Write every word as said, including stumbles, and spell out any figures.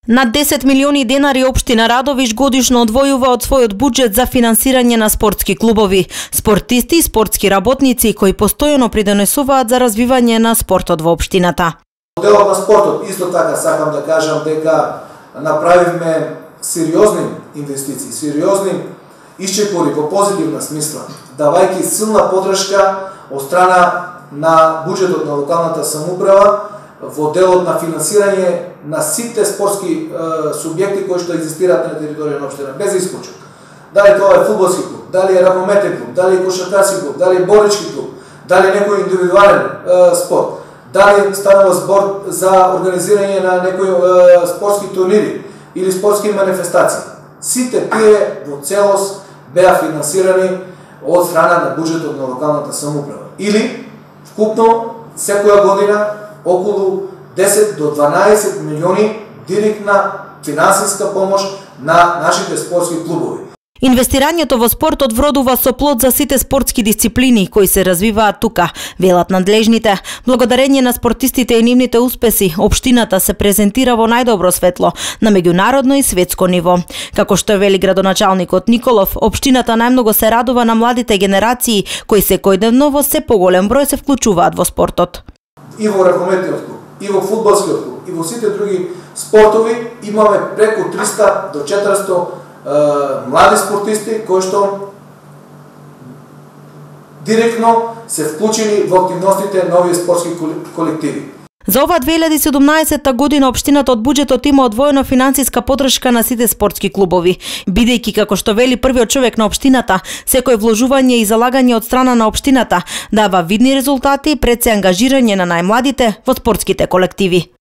Над десет милиони денари општина Радовиш годишно одвојува од својот буџет за финансирање на спортски клубови, спортисти и спортски работници кои постојано придонесуваат за развивање на спортот во општината. Делот на спортот, исто така сакам да кажам дека направивме сериозни инвестиции, сериозни исчекори во позитивна смисла, давајќи силна поддршка од страна на буџетот на локалната самоуправа во делот на финансирање на сите спортски е, субјекти кои што екзистираат на територија на општина, без исклучок. Дали тоа е фудбалски клуб, дали е ракометен клуб, дали е кошаркарски клуб, дали е борички клуб, дали е некој индивидуален е, спорт, дали станува збор за организирање на некои е, спортски турнири или спортски манифестации. Сите тие во целост беа финансирани од страна на буџетот на локалната самоуправа. Или вкупно секоја година околу десет до дванаесет милиони директна финансиска помош на нашите спортски клубови. Инвестирањето во спортот вродува со плод за сите спортски дисциплини кои се развиваат тука, велат надлежните. Благодарение на спортистите и нивните успеси, општината се презентира во најдобро светло на меѓународно и светско ниво. Како што вели градоначалникот Николов, општината најмногу се радува на младите генерации кои секојдневно во се поголем број се вклучуваат во спортот. И во ракометниот клуб, и во фудбалскиот клуб, и во сите други спортови имаме преку триста до четиристо е, млади спортисти кои што директно се вклучени во активностите на овие спортски колективи. За ова две илјади и седумнаесетта година општината од буџетот има одвоена финансиска поддршка на сите спортски клубови, бидејќи како што вели првиот човек на општината, секој вложување и залагање од страна на општината дава видни резултати пред се ангажирање на најмладите во спортските колективи.